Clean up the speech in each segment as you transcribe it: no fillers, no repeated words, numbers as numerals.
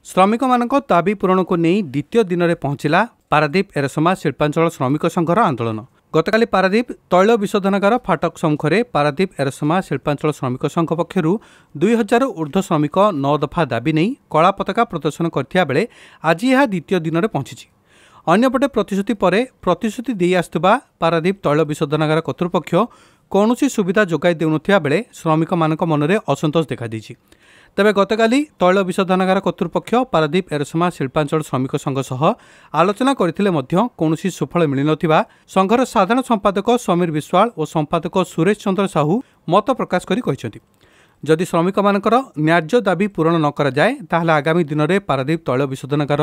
ଶ୍ରମିକମାନଙ୍କ ଦାବି ପୂରଣକୁ ନେଇ ଦ୍ୱିତୀୟ ଦିନରେ ପହଞ୍ଚିଲା ପାରାଦୀପ ଏରସମା ଶିଳ୍ପାଞ୍ଚଳ ଶ୍ରମିକ ସଂଘର ଆନ୍ଦୋଳନ। ଗତକାଲି ପାରାଦୀପ ତୈଳ ବିଶୋଧନାଗାର ଫାଟକ ସମ୍ମୁଖରେ ପାରାଦୀପ ଏରସମା ଶିଳ୍ପାଞ୍ଚଳ ଶ୍ରମିକ ସଂଘ ପକ୍ଷରୁ 2000 ଉର୍ଦ୍ଧ୍ୱ ଶ୍ରମିକ 9 ଦଫା ଦାବି ନେଇ କଳା ପତାକା ପ୍ରଦର୍ଶନ କରିଥିବା ବେଳେ ଆଜି ଏହା ଦ୍ୱିତୀୟ ଦିନରେ ପହଞ୍ଚିଛି। ଅନ୍ୟପଟେ ପ୍ରତିଶ୍ରୁତି ପରେ ପ୍ରତିଶ୍ରୁତି ଦେଇ ଆସୁଥିବା ପାରାଦୀପ ତୈଳ ବିଶୋଧନାଗାର କର୍ତ୍ତୃପକ୍ଷ କୌଣସି ସୁବିଧା ଯୋଗାଇ ଦେଉନଥିବା ବେଳେ ଶ୍ରମିକମାନଙ୍କ ମନରେ ଅସନ୍ତୋଷ ଦେଖାଦେଇଛି। ତେବେ ଗତକାଲି ତୈଳ ବିଶୋଧନାଗାର କର୍ତ୍ତୃପକ୍ଷ ପାରାଦୀପ ଏରସମା ଶିଳ୍ପାଞ୍ଚଳ ଶ୍ରମିକ ସଂଘ ସହ ଆଲୋଚନା କରିଥିଲେ ମଧ୍ୟ କୌଣସି ସୁଫଳ ମିଳିନଥିବା ସଂଘର ସାଧାରଣ ସମ୍ପାଦକ ସମୀର ବିଶ୍ୱାଳ ଓ ସମ୍ପାଦକ ସୁରେଶ ଚନ୍ଦ୍ର ସାହୁ ମତ ପ୍ରକାଶ କରି କହିଛନ୍ତି, ଯଦି ଶ୍ରମିକମାନଙ୍କର ନ୍ୟାଯ୍ୟ ଦାବି ପୂରଣ ନ କରାଯାଏ, ତାହେଲେ ଆଗାମୀ ଦିନରେ ପାରାଦୀପ ତୈଳ ବିଶୋଧନାଗାର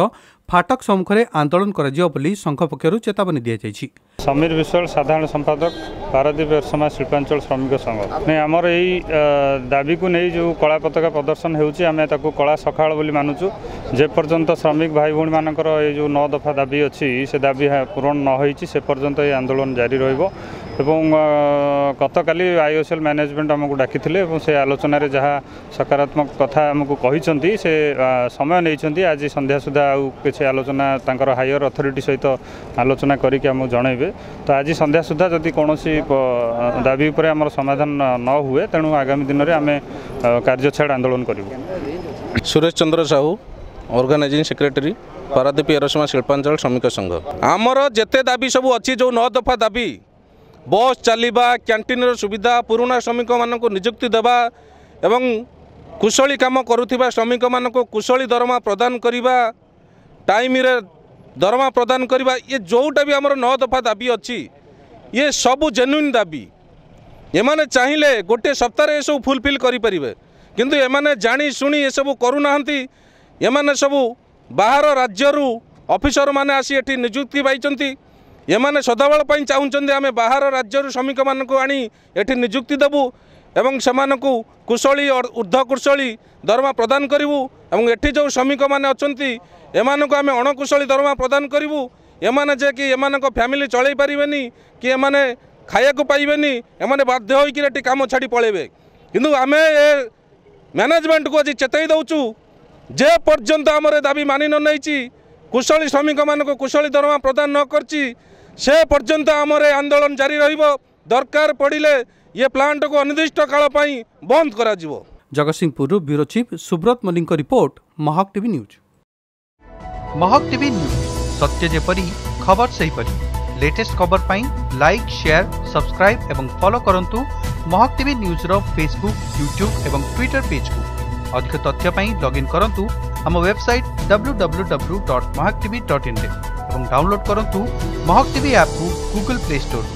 ଫାଟକ ସମ୍ମୁଖରେ ଆନ୍ଦୋଳନ କରାଯିବ ବୋଲି ସଂଘ ପକ୍ଷରୁ ଚେତାବନୀ ଦିଆଯାଇଛି। ସମୀର ବିଶ୍ୱାଳ, ସାଧାରଣ ସମ୍ପାଦକ, ପାରାଦୀପ ଏରସମା ଶିଳ୍ପାଞ୍ଚଳ ଶ୍ରମିକ ସଂଘ। ନାଇଁ, ଆମର ଏଇ ଦାବିକୁ ନେଇ ଯେଉଁ କଳା ପତାକା ପ୍ରଦର୍ଶନ ହେଉଛି, ଆମେ ତାକୁ କଳା ସକାଳ ବୋଲି ମାନୁଛୁ। ଯେପର୍ଯ୍ୟନ୍ତ ଶ୍ରମିକ ଭାଇ ଭଉଣୀମାନଙ୍କର ଏଇ ଯେଉଁ 9 ଦଫା ଦାବି ଅଛି, ସେ ଦାବି ପୂରଣ ନ ହୋଇଛି, ସେ ପର୍ଯ୍ୟନ୍ତ ଏହି ଆନ୍ଦୋଳନ ଜାରି ରହିବ। ଏବଂ ଗତକାଲି ଆଇଓସିଏଲ୍ ମ୍ୟାନେଜମେଣ୍ଟ ଆମକୁ ଡାକିଥିଲେ ଏବଂ ସେ ଆଲୋଚନାରେ ଯାହା ସକାରାତ୍ମକ କଥା ଆମକୁ କହିଛନ୍ତି, ସେ ସମୟ ନେଇଛନ୍ତି। ଆଜି ସନ୍ଧ୍ୟା ସୁଦ୍ଧା ଆଉ କିଛି ଆଲୋଚନା ତାଙ୍କର ହାୟର ଅଥରିଟି ସହିତ ଆଲୋଚନା କରିକି ଆମକୁ ଜଣାଇବେ। ତ ଆଜି ସନ୍ଧ୍ୟା ସୁଦ୍ଧା ଯଦି କୌଣସି ଦାବି ଉପରେ ଆମର ସମାଧାନ ନ ହୁଏ, ତେଣୁ ଆଗାମୀ ଦିନରେ ଆମେ କାର୍ଯ୍ୟ ଛାଡ଼ ଆନ୍ଦୋଳନ କରିବୁ। ସୁରେଶ ଚନ୍ଦ୍ର ସାହୁ, ଅର୍ଗାନାଇଜିଂ ସେକ୍ରେଟାରୀ, ପାରାଦୀପ ଏରସମା ଶିଳ୍ପାଞ୍ଚଳ ଶ୍ରମିକ ସଂଘ। ଆମର ଯେତେ ଦାବି ସବୁ ଅଛି, ଯେଉଁ 9 ଦଫା ଦାବି, ବସ୍ ଚାଲିବା, କ୍ୟାଣ୍ଟିନ୍ର ସୁବିଧା, ପୁରୁଣା ଶ୍ରମିକମାନଙ୍କୁ ନିଯୁକ୍ତି ଦେବା ଏବଂ କୁଶଳୀ କାମ କରୁଥିବା ଶ୍ରମିକମାନଙ୍କୁ କୁଶଳୀ ଦରମା ପ୍ରଦାନ କରିବା, ଟାଇମ୍ରେ ଦରମା ପ୍ରଦାନ କରିବା, ଇଏ ଯେଉଁଟା ବି ଆମର 9 ଦଫା ଦାବି ଅଛି, ଇଏ ସବୁ ଜେନ୍ୟୁନ୍ ଦାବି। ଏମାନେ ଚାହିଁଲେ ଗୋଟିଏ ସପ୍ତାହରେ ଏସବୁ ଫୁଲଫିଲ୍ କରିପାରିବେ, କିନ୍ତୁ ଏମାନେ ଜାଣି ଶୁଣି ଏସବୁ କରୁନାହାନ୍ତି। ଏମାନେ ସବୁ ବାହାର ରାଜ୍ୟରୁ ଅଫିସରମାନେ ଆସି ଏଠି ନିଯୁକ୍ତି ପାଇଛନ୍ତି। ଏମାନେ ସଦାବେଳ ପାଇଁ ଚାହୁଁଛନ୍ତି ଆମେ ବାହାର ରାଜ୍ୟରୁ ଶ୍ରମିକମାନଙ୍କୁ ଆଣି ଏଠି ନିଯୁକ୍ତି ଦେବୁ ଏବଂ ସେମାନଙ୍କୁ କୁଶଳୀ, ଉର୍ଦ୍ଧ୍ୱ କୁଶଳୀ ଦରମା ପ୍ରଦାନ କରିବୁ ଏବଂ ଏଠି ଯେଉଁ ଶ୍ରମିକମାନେ ଅଛନ୍ତି, ଏମାନଙ୍କୁ ଆମେ ଅଣକୁଶଳୀ ଦରମା ପ୍ରଦାନ କରିବୁ। ଏମାନେ ଯେ କି ଏମାନଙ୍କ ଫ୍ୟାମିଲି ଚଳେଇ ପାରିବେନି କି ଏମାନେ ଖାଇବାକୁ ପାଇବେନି, ଏମାନେ ବାଧ୍ୟ ହୋଇକିରି ଏଠି କାମ ଛାଡ଼ି ପଳେଇବେ। କିନ୍ତୁ ଆମେ ଏ ମ୍ୟାନେଜମେଣ୍ଟକୁ ଆଜି ଚେତାଇ ଦେଉଛୁ, ଯେ ପର୍ଯ୍ୟନ୍ତ ଆମର ଦାବି ମାନି ନ ନେଇଛି, କୁଶଳୀ ଶ୍ରମିକମାନଙ୍କୁ କୁଶଳୀ ଦରମା ପ୍ରଦାନ ନ କରିଛି, ସେ ପର୍ଯ୍ୟନ୍ତ ଆମର ଏ ଆନ୍ଦୋଳନ ଜାରି ରହିବ। ଦରକାର ପଡ଼ିଲେ ଇଏ ପ୍ଲାଣ୍ଟକୁ ଅନିର୍ଦ୍ଦିଷ୍ଟ କାଳ ପାଇଁ ବନ୍ଦ କରାଯିବ। ଜଗତସିଂହପୁରରୁ ବ୍ୟୁରୋ ଚିଫ୍ ସୁବ୍ରତ ମଲ୍ଲିକଙ୍କ report, Mahak TV news. Mahak TV news, ସତ୍ୟ ଯେପରି ଖବର ସେହିପରି। ଲେଟେଷ୍ଟ ଖବର ପାଇଁ ଲାଇକ୍, ସେୟାର, ସବସ୍କ୍ରାଇବ୍ ଏବଂ ଫଲୋ କରନ୍ତୁ ମହକ ଟିଭି ନ୍ୟୁଜ୍ର ଫେସବୁକ୍, ୟୁଟ୍ୟୁବ୍ ଏବଂ ଟ୍ୱିଟର ପେଜ୍କୁ। ଅଧିକ ତଥ୍ୟ ପାଇଁ ଲଗ୍ଇନ୍ କରନ୍ତୁ ଆମ ୱେବସାଇଟ୍ www.mahakatv.in ରେ ଏବଂ ଡାଉନଲୋଡ୍ କରନ୍ତୁ ମହକ ଟିଭି ଆପ୍କୁ ଗୁଗଲ ପ୍ଲେ ଷ୍ଟୋରରୁ।